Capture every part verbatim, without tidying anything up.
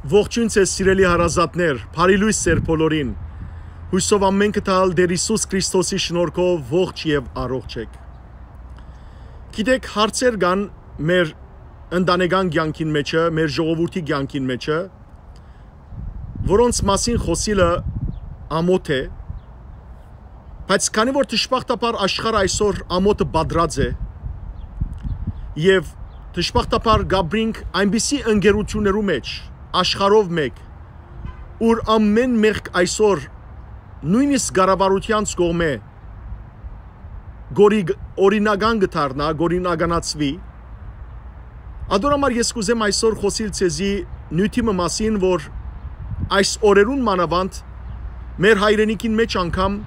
Ողջույն ձեզ, սիրելի հարազատներ, բարի լոյս ձեր բոլորին։ Հուսով ամէնքը տալ Տեր Յիսուս Քրիստոսի շնորհքով ողջ եւ առողջ եք։ Գիտեք, հարցեր կան մեր ընտանեկան կյանքին մեջը, մեր ժողովրդի կյանքին մեջը, որոնց մասին խոսիլը ամոթ է, բայց քանի որ դժբախտաբար աշխարհը այսօր ամոթը պատրած է, եւ դժբախտաբար գաբրինք այնպիսի ընկերություններու մեջ, աշխարհով մէկ, ուր ամէն մեղք այսօր նոյնիսկ կառավարութեանց կողմէ գորի-, օրինական կը դառնայ, կորինականացուի։ Ադոր համար ես կ'ուզեմ այսօր խօսիլ ձեզի նիւթի մը մասին, որ այս օրերուն մանաւանդ մեր հայրենիքին մէջ անգամ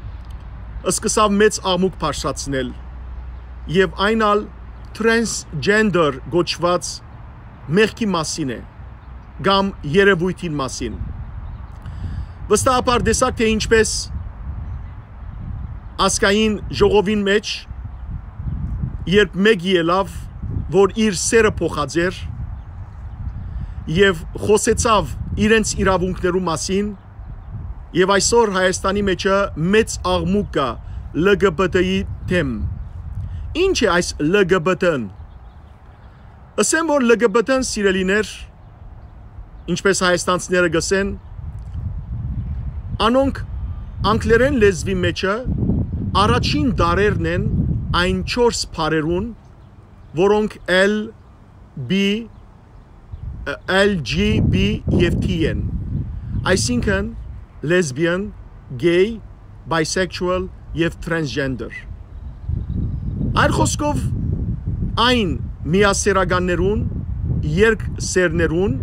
սկսաւ մեծ աղմուկ բարձրացնել, եւ այն ալ transgender կոչուած մեղքի մասին է, կամ երևոյթին մասին։ Վստահաբար տեսաք, թէ ինչպես ազգային ժողովին մէջ, երբ մէկը ելաւ, որ իր սերը փոխած էր եւ խօսեցաւ իրենց իրաւունքներու մասին, եւ այսօր Հայաստանի մեջը մեծ աղմուկ կայ L G B T-ի դէմ։ Ի՞նչ է այս L G B T-ն։ Ըսեմ, որ L G B T-ն, սիրելիներ, ինչպես հայաստանցիները կ'ըսեն, անոնք անգլերէն լեզուի մեջը առաջին տառերն են այն չորս բառերուն, որոնք L, B, L G B եւ T են, այսինքն lesbian, gay, bisexual եւ transgender։ Այլ խօսքով, այն միասերականներուն, երկսերներուն,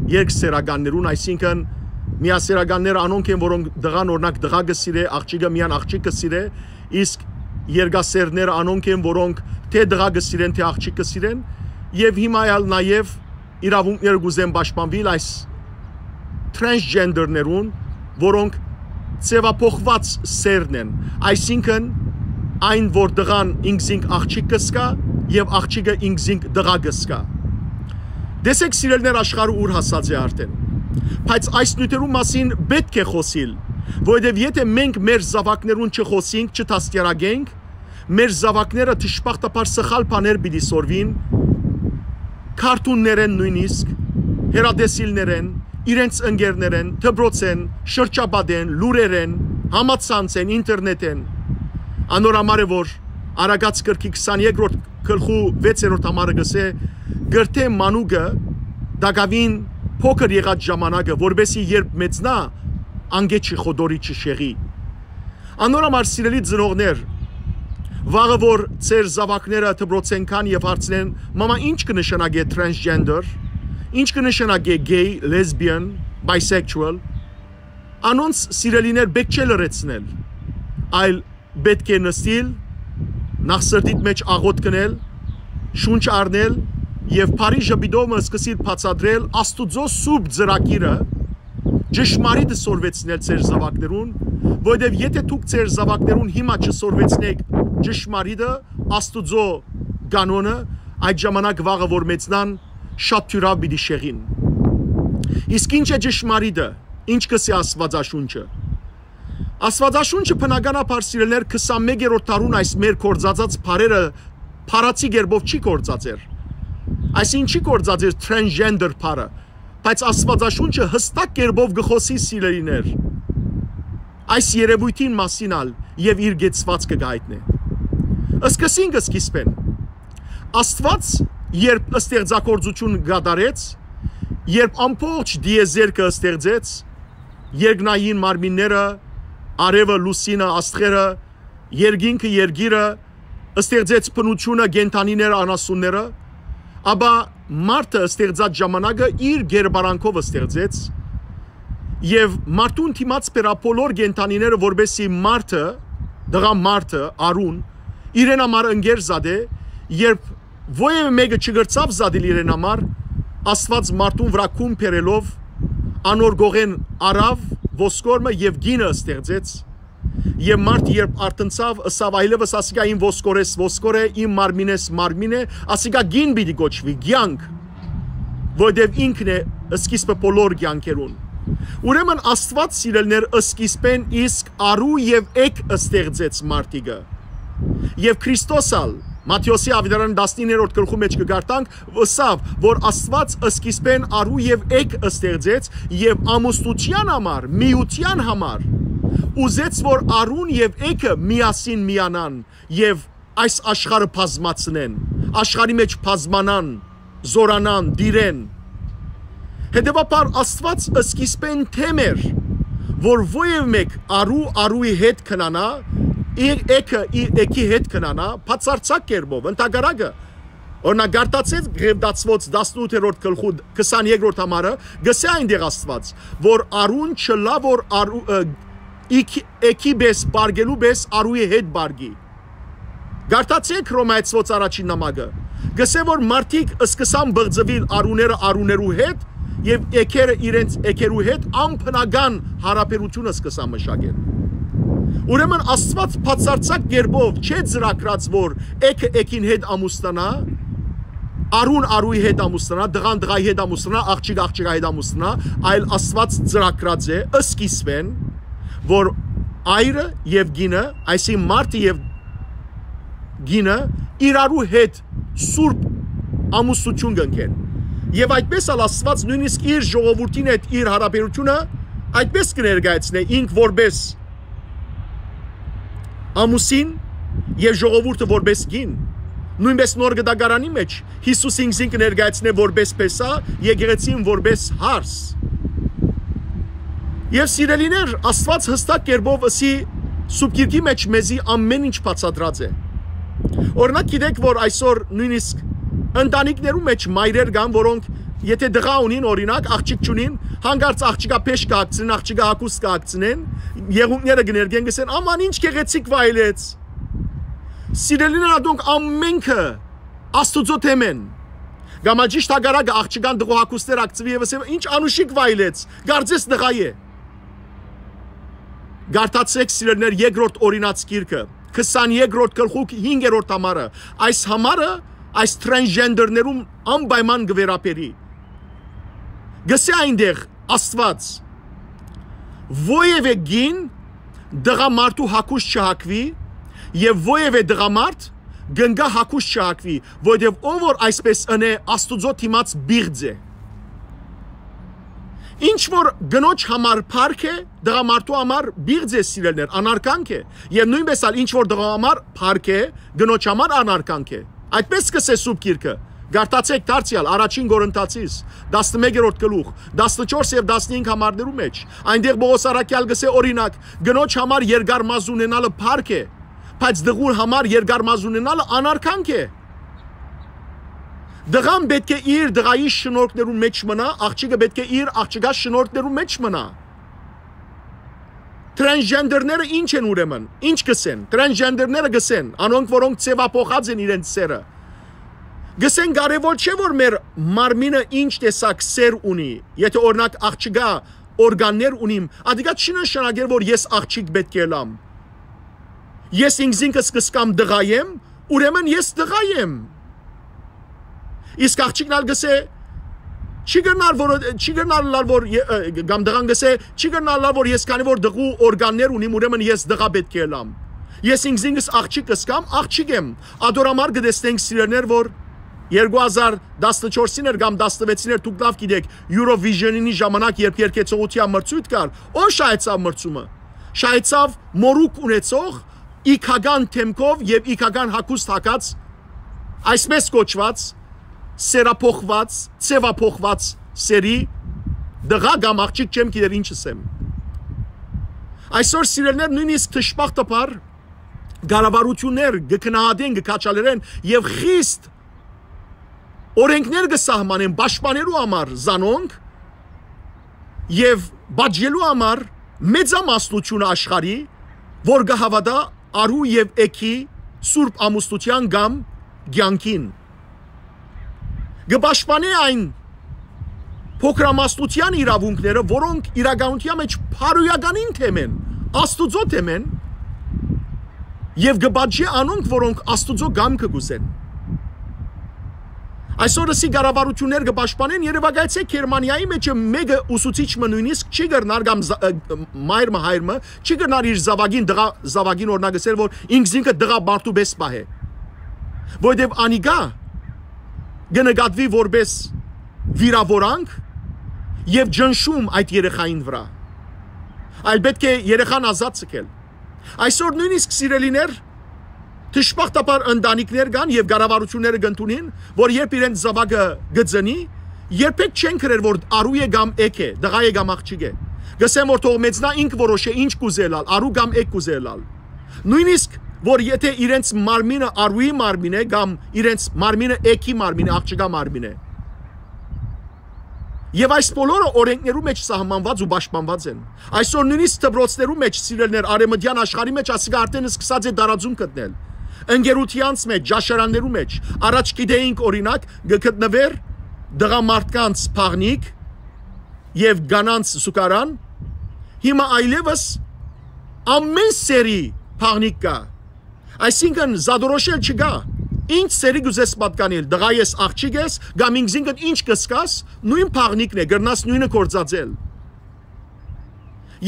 երկսերականներուն, այսինքն միասերականները անոնք են, որոնք տղան, օրինակ, տղայ կը սիրէ, աղջիկը միայն աղջիկ կը սիրէ, իսկ երկասերները անոնք են, որոնք թէ տղայ կը սիրեն, թէ աղջիկ կը սիրեն, եւ հիմա ալ նաեւ իրաւունքները կ'ուզեն պաշտպանուիլ այս transgender-ներուն, որոնք ձեւափոխուած սերն են, այսինքն այն, որ տղան ինքզինք աղջիկ կը զգայ եւ աղջիկը ինքզինք տղայ կը զգայ։ Տեսեք, սիրելիներ, աշխարհը ուր հասած է արդեն։ Բայց այս նիւթերու մասին պէտք է խօսիլ, որովհետեւ եթէ մենք մեր զաւակներուն չխօսինք, չդաստիարակենք, մեր զաւակները դժբախտաբար սխալ բաներ պիտի սորվին, քարթուններէն նոյնիսկ, հեռատեսիլներէն, իրենց ընկերներէն, դպրոցէն, շրջապատէն, լուրերէն, համացանցէն, ինտերնետէն։ Անոր համար է, որ Արագած կրքի քսանեքերորդ գլխու վեցերորդ համարը կ'ըսէ. «Կրթէ մանուկը տակաւին փոքր եղած ժամանակը, որպեսզի երբ մեծնայ, անկէ չխոտորի, չշեղի»։ Անոր համար, սիրելի ծնողներ, վաղը որ ձեր զաւակները դպրոցէն գան եւ հարցնեն. «Մամա, ի՞նչ կը նշանակէ transgender, ի՞նչ կը նշանակէ gay, lesbian, bisexual», անոնց, սիրելիներ, պէտք չէ լռեցնել, այլ պէտք է նստիլ, նախսրտիդ մէջ աղօթք ընել, շունչ առնել եւ բարի ժպիտով մը սկսիլ բացատրել Աստուծոյ սուրբ ծրագիրը, ճշմարիտը սորվեցնել ձեր զաւակներուն, որովհետեւ եթէ դուք ձեր զաւակներուն հիմա չսորվեցնէք ճշմարիտը, Աստուծոյ կանոնը, այդ ժամանակ վաղը որ մեծնան, շատ թիւրաւ պիտի շեղին։ Իսկ ի՞նչ է ճշմարիտը, ի՞նչ կ'ըսի Աստուածաշունչը։ Աստուածաշունչը բնականաբար, սիրելիներ, քսանմեկերորդ դարուն այս մեր գործածած բառերը փառացի կերպով չի գործածեր։ Այսինքն չի գործածեր transgender բառը, բայց Աստուածաշունչը յստակ կերպով կը խօսի, սիրելիներ, այս երևոյթին մասին ալ եւ իր կեցուածքը կ'այտնէ։ Սկսինք սկիզբէն։ Աստուած երբ ստեղծագործություն կատարեց, երբ ամբողջ դիեզերքը ստեղծեց, երկնային մարմինները, արևը, լուսինը, աստղերը, երկինքը, երկիրը, ստեղծեց բնությունը, կենդանիները, անասունները, ապա մարդը ստեղծած ժամանակը իր կերպարանքով ստեղծեց, եւ մարդուն դիմաց բերա բոլոր կենդանիները, որպեսզի մարդը, տղա մարդը, Արուն, իրեն համար ընկեր զատէ, երբ որեւէ մէկը չկրցաւ զատիլ իրեն համար, Աստուած մարդուն վրայ քուն բերելով, անոր կողեն առաւ ոսկոր մը եւ կինը ստեղծեց, եւ մարդը երբ արթնցաւ, ըսաւ. «Այլեւս ասիկա իմ ոսկորես ոսկոր է, իմ մարմինես մարմին է, ասիկա կին պիտի կոչուի, կեանք»։ որովհետեւ ինքն է սկիզբը բոլոր կեանքերուն։ Ուրեմն Աստուած, սիրելիներ, սկիզբէն իսկ արու եւ էգ ստեղծեց մարդիկը։ Եւ Քրիստոս ալ, Մատթէոսի աւետարան տասնիններորդ գլխու մէջ կը կարդանք, ըսաւ, որ Աստուած սկիզբէն արու եւ էգ ստեղծեց եւ ամուսնութեան համար, միութեան համար, ուզեց, որ արուն եւ էգը միասին միանան եւ այս աշխարհը բազմացնեն, աշխարհի մէջ բազմանան, զօրանան, տիրեն։ Հետեւաբար Աստուած սկիզբէն դէմ էր, որ որեւէ մէկ արու արուի հետ քնանայ, իր էգը իր էգի հետ քնանայ, բացարձակ կերպով, ընդհակառակը։ Օրինակ, կարդացէք Ղեւտացուոց տասնութերորդ գլխու քսաներկրորդ համարը, գսէ այնտեղ Աստուած, որ արուն չըլլայ, որ արու, ը, իք-, էգի պէս պարգելու պէս արուի հետ պարգի։ Կարդացէք Հռոմայեցուոց առաջին նամակը։ Գսէ, որ մարդիկ սկսան բղծուիլ արուները արուներու հետ եւ էգերը իրենց էգերու հետ անբնական յարաբերութիւնը սկսան մշակել։ Ուրեմն Աստուած բացարձակ կերպով չէ ծրագրած, որ էգը էգին հետ ամուսնանայ, արուն արուի հետ ամուսնանայ, տղան տղայի հետ ամուսնանայ, աղջիկը աղջկա հետ ամուսնանայ, այլ Աստուած ծրագրած է սկիզբէն, որ այրը եւ կինը, այսինքն մարդը եւ կինը, իրարու հետ սուրբ ամուսնութիւն կ'ընկեն։ Եւ այդպէս ալ Աստուած նոյնիսկ իր ժողովուրդին հետ իր յարաբերութիւնը այդպէս կը ներկայացնէ ինք որպէս ամուսին եւ ժողովուրդը որպէս կին։ Նոյնպէս Նոր Կտակարանի մէջ Յիսուս ինքզին կը ներկայացնէ որպէս փեսա, եկեղեցին որպէս հարս։ Եւ սիրելիներ, Աստուած յստակ կերպով ըսի Սուրբ Գիրքի մէջ մեզի ամէն ինչ բացատրած է։ Օրինակ, գիտեք, որ այսօր նոյնիսկ ընտանիքներու մէջ մայրեր կան, որոնք, եթե տղայ ունին, օրինակ, աղջիկ չունին, հանկարծ աղջիկա փէշ կը հագցնեն, աղջիկա հագուստ կը հագցնեն, եղունգները կը ներկեն, կ'ըսեն, «Աման, ինչ գեղեցիկ վայելեց»։ Սիրելիներ, ատոնք ամենքը Աստուծոյ դէմ են։ Կամ ալ ճիշդ հակառակը, աղջկան տղու հագուստներ հագցուի եւ ըսեմ, «Ինչ անուշիկ վայելեց, կարծես տղայ է»։ Կարդացէք, սիրելիներ, երկրորդ օրինաց գիրքը, քսաներկրորդ գլխու հինգերորդ համարը։ Այս համարը այս transgender-ներուն անպայման կը վերաբերի։ Գսէ այնտեղ Աստուած. «Որեւէ կին տղամարդու հագուստ չհագուի եւ որեւէ տղամարդ գնգա հագուստ չհագուի, որովհետեւ ով որ այսպէս ընէ, Աստուծոյ դիմաց պիղծ է»։ Ինչ որ կնոջ համար փառք է, տղամարդու համար պիղծ է, սիրելիներ, անարգանք է, եւ նոյնպէս ալ ինչ որ տղայ համար փառք է, կնոջ համար անարգանք է։ Այդպէս կ'ըսէ Սուրբ Գիրքը։ Կարդացէք դարձեալ առաջին Կորինթացիս, տասնմեկերորդ գլուխ, տասնչորս եւ տասնհինգ համարներու մէջ։ Այնտեղ Պողոս առաքեալ կ'ըսէ, օրինակ, կնոջ համար երկար մազ ունենալը փառք է, բայց տղուր համար երկար մազ ունենալը անարգանք է։ Տղան պէտք է իր տղայի շնորհքներուն մէջ մնայ, աղջիկը պէտք է իր աղջկա շնորհքներուն մէջ մնայ։ Transgender-ները ի՞նչ են ուրեմն, ի՞նչ կ'ըսեն։ Transgender-ները կ'ըսեն, անոնք, որոնք ձեւափոխած են իրենց սերը, կ'ըսեն, կարեւոր չէ, որ մեր մարմինը ինչ տեսակ սեր ունի, եթե, օրինակ, աղջկա օրգաններ ունիմ, ատիկա չի նշանակեր, որ ես աղջիկ պէտք է ըլամ։ Ես ինքզինքս կ'ըսկամ տղայ եմ, ուրեմն ես տղայ եմ։ Իսկ աղջիկն ալ կ'ըսէ, չի կրնար, որ, չի կրնար ըլլալ, որ ե-, ը, կամ տղան կ'ըսէ, չի կրնար ըլլալ, որ ես քանի որ տղու օրգաններ ունիմ, ուրեմն ես տղայ պէտք է ըլամ։ Ես ինքզինքս աղջիկ կ'ըսկամ, աղջիկ եմ։ Ատոր համար կը տեսնենք, սիրելիներ, որ երկու հազար տասնչորսին էր կամ տասնվեցին էր, դուք լաւ գիտէք, Eurovision-ի ժամանակ, երբ երգեցողութեան մրցոյթ կար, ո՞ր շահեցաւ մրցումը։ Շահեցաւ մօրուք ունեցող, իգական դէմքով եւ իգական հագուստ հագած, այսպես կոչուած, սերափոխված, ձեւափոխված սերի տղայ կամ աղջիկ, չեմ գիտեր ինչ ըսեմ։ Այսօր, սիրելիներ, նոյնիսկ դժբախտաբար կառավարութիւններ կը գնահատեն, կը քաջալերեն եւ խիստ օրենքներ կը սահմանեն պաշտպանելու համար զանոնք եւ պատժելու համար մեծամասնությունը աշխարհի, որ կը հաւատայ արու եւ էգի սուրբ ամուսնութեան կամ կեանքին։ Կը պաշտպանէ այն փոքրամասնութեան իրաւունքները, որոնք իրականութեան մէջ բարոյականին դէմ են, Աստուծոյ դէմ են, եւ կը պատժէ անոնք, որոնք Աստուծոյ կամքը կ'ուզեն։ Այսօր ըսի կառավարութիւններ կը պաշտպանեն, երեւակայեցէ Գերմանիայի մէջ մէկը ուսուցիչ մը նոյնիսկ չի կրնար կամ զա-, ը, մայր մը, հայր մը չի կրնար իր զաւակին, տղայ զաւակին օրինակ ըսել, որ ինքզինքը տղայ մարդու պէս պահէ։ Որովհետեւ անիկա կը նկատուի որպէս վիրաւորանք եւ ճնշում այդ երեխային վրայ։ Այլ պէտք է երեխան ազատ ձգել։ Այսօր նոյնիսկ, սիրելիներ, դժբախտաբար ընտանիքներ կան եւ կառավարութիւնները կ'ընդունին, որ երբ իրենց զաւակը կը ծնի, երբեք չեն գրեր, որ արու է կամ էգ է, տղայ է կամ աղջիկ է։ Կ'ըսեն, որ թող մեծնայ, ինք որոշէ ինչ կ'ուզէ ըլլալ, արու կամ էգ կ'ուզէ ըլլալ։ Նոյնիսկ, որ եթե իրենց մարմինը արուի մարմին է կամ իրենց մարմինը էգի մարմին է, աղջկա մարմին է։ Եւ այս բոլորը օրէնքներու մէջ սահմանուած ու պաշտպանուած են։ Այսօր նոյնիսկ դպրոցներու մէջ, սիրելիներ, արեւմտեան աշխարհի մէջ ասիկա արդէն սկսած է տարածում գտնել։ Ընկերութեանց մէջ, ճաշարաններու մէջ, առաջ գիտէինք, օրինակ, կը գտնուէր տղամարդկանց բաղնիք եւ կանանց զուգարան, հիմա այլեւս ամէն սեռի բաղնիք կայ։ Այսինքն, զատորոշել չկայ։ Ինչ սեռի կ'ուզես պատկանիլ, տղայ ես, աղջիկ ես, կամ ինքզինքդ ինչ կ'զգաս, նոյն բաղնիքն է, կրնաս նոյնը գործածել։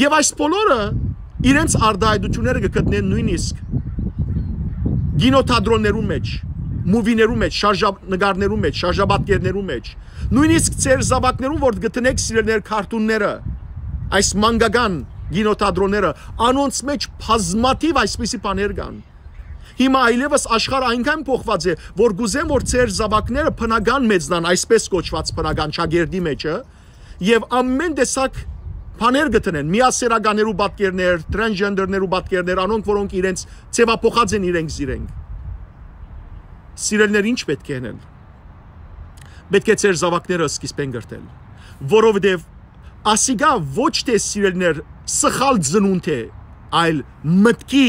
Եւ այս բոլորը իրենց արտայայտութիւնները կը գտնեն նոյնիսկ կինոթատրոններու մէջ, մուվիներու մէջ, շարժանկարներու մէջ, շարժապատկերներու մէջ, նոյնիսկ ձեր զաւակներուն որ կը դնէք, սիրելիներ, քարթունները, այս մանկական կինոթատրոնները, անոնց մէջ բազմաթիւ այսպիսի բաներ կան։ Հիմա այլեւս աշխարհը այնքան փոխուած է, որ կ'ուզեմ, որ ձեր զաւակները բնական մեծնան, այսպես կոչուած բնական ճակերտի մէջը, եւ ամէն տեսակ բաներ կը դնեն, միասեռականներու պատկերներ, տրանսգենդերներու պատկերներ, անոնք, որոնք իրենց ձեւափոխած են իրենք զիրենք։ Սիրելիներ, ինչ պէտք է ընել։ Պէտք է ձեր զաւակները սկիզբէն կրթել, որովհետեւ ասիկա ոչ թէ, սիրելիներ, սխալ ծնունդ է, այլ մտքի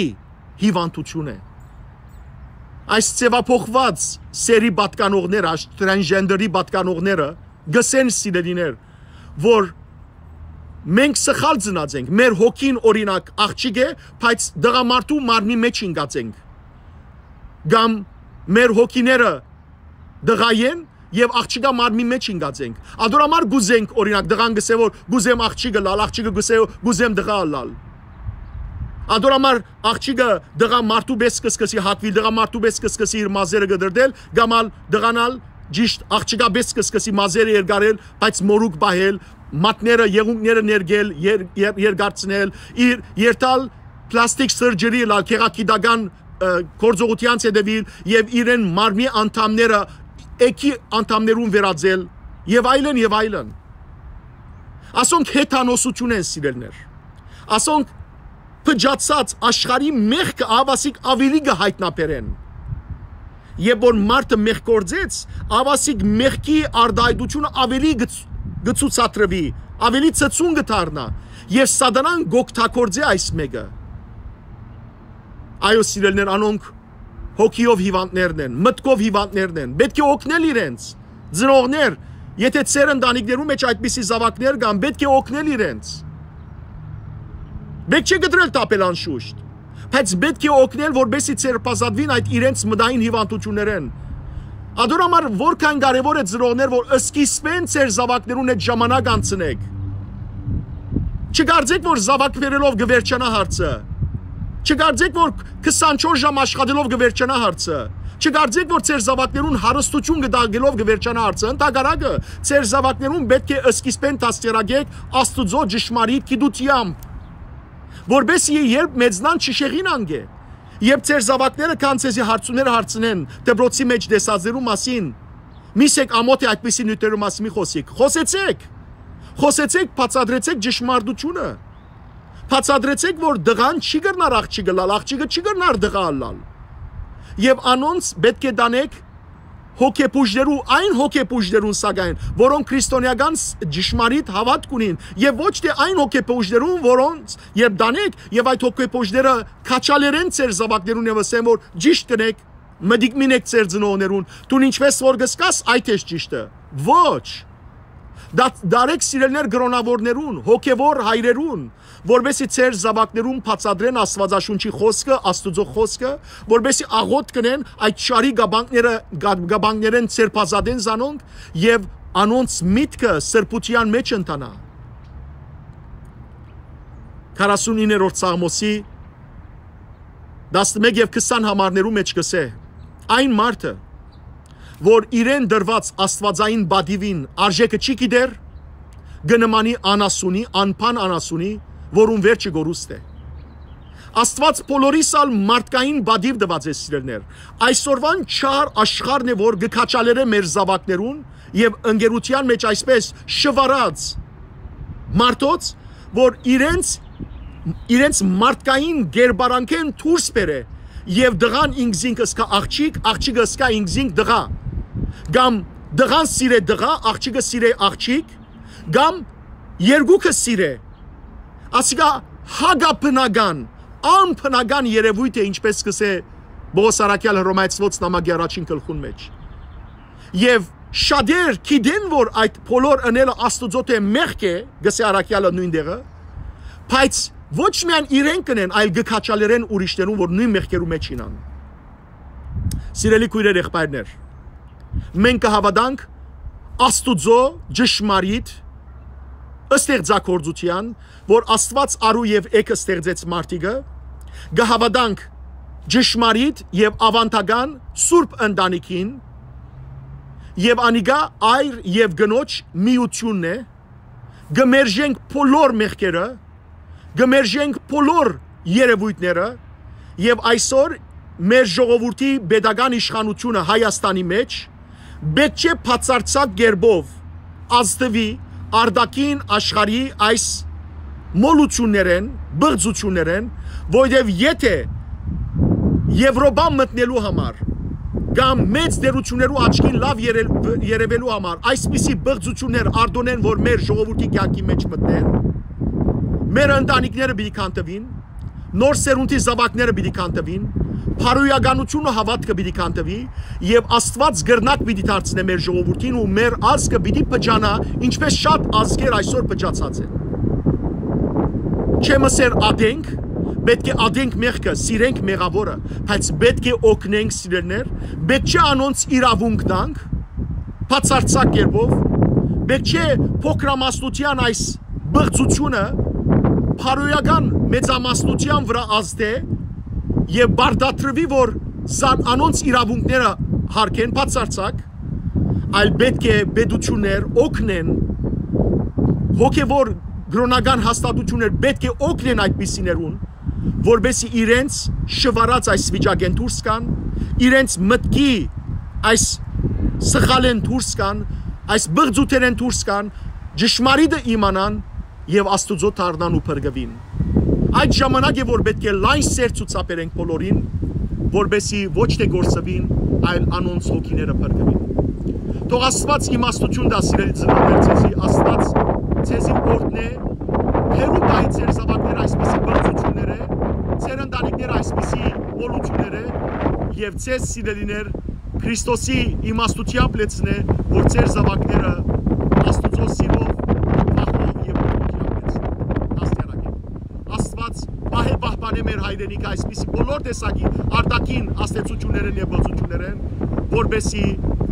հիվանդութիւն է։ Այս ձեւափոխուած սեռի պատկանողները, այս տրանսգենդերի պատկանողները կ'ըսեն, սիրելիներ, որ մենք սխալ ծնած ենք, մեր հոգին, օրինակ, աղջիկ է, բայց տղամարդու մարմնի մէջ ինկած ենք, կամ մեր հոգիները տղայ են եւ աղջիկա մարմնի մէջ ինկած ենք։ Ատոր համար կ'ուզենք, օրինակ, տղան կ'ըսէ, որ կ'ուզեմ աղջիկ ըլլալ, աղջիկը կ'ըսէ, կ'ուզեմ տղայ ըլլալ։ Ատոր համար աղջիկը տղայ մարդու պէս կը սկսի հագուիլ, տղայ մարդու պէս կը սկսի իր մազերը կը դրդել, կամ ալ տղան ալ ճիշտ աղջկայ պէս կը սկսի մազերը երկարել, բայց մօրուք պահել, մատները, եղունգները ներկել, եր-, եր-, երկարցնել, իր երթալ պլաստիկ սըրջերի ըլլալ, գեղագիտական, ը, գործողութեանց հետեւիլ եւ իրեն մարմնի անդամները, էգի անդամներուն վերածել, եւ այլն, եւ այլն։ Ասոնք հեթանոսություն են, սիրելիներ։ Ասոնք փճացած աշխարհի մեղքը ավասիկ աւելի կը յայտնաբերեն։ Երբ որ մարդը մեղք գործեց, ավասիկ մեղքի արտայայտությունը աւելի կը ց-, կը ցուցադրուի, աւելի ցցուն կը դառնայ, եւ սատանան կ'օգտագործէ այս մէկը։ Այո, սիրելիներ, անոնք հոգիով հիվանդներն են, մտքով հիվանդներն են, պէտք է օգնել իրենց։ Ծնողներ, եթե ձեր ընտանիքներու մէջ այդպիսի զաւակներ կան, պէտք է օգնել իրենց։ Պէտք չէ կտրել, թափել անշուշտ, բայց պէտք է օգնել, որպեսզի ձերբազատուին այդ իրենց մտային հիվանդութիւններէն։ Ատոր համար որքան կարեւոր է, ծնողներ, որ սկիզբէն ձեր զաւակներուն հետ ժամանակ անցնեք։ Չկարծեք, որ զաւակ բերելով կը վերջանայ հարցը։ Չկարծեք, որ քսանչորս ժամ աշխատելով կը վերջանայ հարցը։ Չկարծեք, որ ձեր զաւակներուն հարստութիւն կտակելով կը վերջանայ հարցը։ Ընդհակառակը, ձեր զաւակներուն պէտք է սկիզբէն դաստիարակեք Աստուծոյ ճշմարիտ գիտութեամբ, որպեսզի երբ մեծնան, չշեղին անկէ։ Երբ ձեր զաւակները կան ձեզի հարցումներ հարցնեն դպրոցի մէջ տեսածներու մասին, մի սեք ամոթ է այդպիսի նիւթերու մասին մի խոսիք։ Խոսեցեք։ Խոսեցեք, բացատրեցեք ճշմարտությունը։ Բացատրեցեք, որ տղան չի կրնար աղջիկ ըլլալ, աղջիկը չի կրնար տղայ ըլլալ։ Եւ անոնց պէտք է տանեք հոգեբուժներու, այն հոգեբուժներուն, սակայն, որոնք քրիստոնեական ս-, ճշմարիտ հաւատք ունին, եւ ոչ թէ այն հոգեբուժներուն, որոնց երբ տանեք, եւ այդ հոգեբուժները քաչալերեն ձեր զաւակներուն եւ ըսեն, որ ճիշդ կ'ընեք, մտիկ մին եք ձեր ծնողներուն, դուն ինչպես որ կ'զգաս, այդ ես ճիշդը։ Ոչ։ Դա-, դարեք սիրելիներ կրոնաւորներուն, հոգեւոր հայրերուն, որպեսզի ձեր զաւակներուն բացատրեն Աստուածաշունչի խօսքը, Աստուծոյ խօսքը, որպեսզի աղօթք կ'ընեն այդ չարի կապանքները, կա-, կապանքներէն ձերբազատեն զանոնք եւ անոնց միտքը սրբութեան մէջ ընթանայ։ Քառասունիններորդ Սաղմոսի տասնմէկ եւ քսան համարներու մէջ կ'ըսէ. «Այն մարդը, որ իրեն տրուած աստուածային պատիւին արժէքը չի գիտեր, կը նմանի անասունի, անփան անասունի, որուն վերջը կորուստ է»։ Աստուած բոլորիս ալ մարդկային պատիւ տուած է, սիրելիներ։ Այսօրուան չար աշխարհն է, որ կը քաչալերէ մեր զաւակներուն եւ ընկերութեան մէջ այսպես շուարած մարդոց, որ իրենց, իրենց մարդկային կերպարանքէն դուրս բերէ եւ տղան ինքզինք ըսկայ աղջիկ, աղջիկը ըսկայ ինքզինք տղայ, կամ տղան սիրէ տղայ, աղջիկը սիրէ աղջիկ, կամ երկուքը սիրէ։ Ասիկա հակաբնական, անբնական երեւոյթ է, ինչպես կ'ըսէ Պողոս առաքեալ Հռոմայեցիներուն նամակի առաջին գլխուն մէջ։ Եւ շատեր գիտեն, որ այդ բոլոր ընելը Աստուծոյ թէ մեղք է, կ'ըսէ առաքեալը նոյն տեղը, բայց ոչ միայն իրենք կ'ընեն, այլ կը քաչալերեն ուրիշներուն, որ նոյն մեղքերու մէջ իյնան։ Սիրելի քոյրեր, եղբայրներ, մենք կը հաւատանք Աստուծոյ ճշմարիտ ստեղծագործութեան, որ Աստուած արու եւ էգը ստեղծեց մարդիկը, կը հաւատանք ճշմարիտ եւ աւանդական սուրբ ընտանիքին, եւ անիկա այր եւ կնոջ միութիւնն է, կը մերժենք բոլոր մեղքերը, կը մերժենք բոլոր երեւոյթները, եւ այսօր մեր ժողովուրդի պետական իշխանութիւնը Հայաստանի մէջ պէտք չէ բացարձակ կերպով ազդուի արտաքին աշխարհի այս մոլութիւններէն, բղծութիւններէն, որովհետեւ եթէ Եվրոպա մտնելու համար կամ մեծ տէրութիւններու աչքին լաւ երել-, երեւելու համար այսպիսի բղծութիւններ արտոնեն, որ մեր ժողովուրդի կեանքի մէջ մտնեն, մեր ընտանիքները պիտի քանդուին, նոր սերունդի զաւակները պիտի քանդուին, բարոյականութիւնը հաւատքը պիտի քանդուի, եւ Աստուած կրնակ պիտի դարձնէ մեր ժողովուրդին ու մեր ազգը պիտի փճանայ, ինչպես շատ ազգեր այսօր փճացած են։ Չեմ ըսեր ատենք, պէտք է ատենք մեղքը, սիրենք մեղաւորը, բայց պէտք է օգնենք, սիրելիներ, պէտք չէ անոնց իրաւունք տանք, բացարձակ կերպով, պէտք չէ փոքրամասնութեան այս բղծութիւնը բարոյական մեծամասնութեան վրայ ազդէ եւ պարտադրուի, որ զան անոնց իրաւունքները յարգեն բացարձակ, այլ պէտք է պետութիւններ օգնեն, հոգեւոր կրօնական հաստատութիւններ պէտք է օգնեն այդպիսիներուն, որպեսզի իրենց շուարած այս վիճակէն դուրս գան, իրենց մտքի այս սխալէն դուրս գան, այս բղծութենէն դուրս գան, ճշմարիտը իմանան եւ Աստուծոյ դառնան ու փրկուին։ Այդ ժամանակ է, որ պէտք է լայն սեր ցուցաբերենք բոլորին, որպեսզի ոչ թէ կորսուին, այլ անոնց հոգիները փրկուին։ Թող Աստուած իմաստութիւն տայ, սիրելի ծնողներ, ձեզի, Աստուած ձեզի օրհնէ, հեռու տայ ձեր զաւակները այսպիսի բղծութիւններէ, ձեր ընտանիքները այսպիսի մոլութիւններէ, եւ ձեզ, սիրելիներ, Քրիստոսի իմաստութեամբ լեցնէ, որ ձեր զաւակները Աստուծոյ սիրով, վախով եւ օրհնութեամբ լեցնեն, դաստիարակեն։ Աստուած պահէ պահպանէ մեր հայրենիքը այսպիսի բոլոր տեսակի արտաքին ազդեցութիւններէն եւ բղծութիւններէն, որպեսզի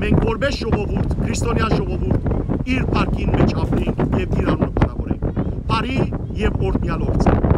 մենք որպես ժողովուրդ, քրիստոնեայ ժողովուրդ, իր փառքին մէջ ապրենք եւ իր անունը փառաւորենք։ Բարի եւ օրհնեալ օր ձեզ։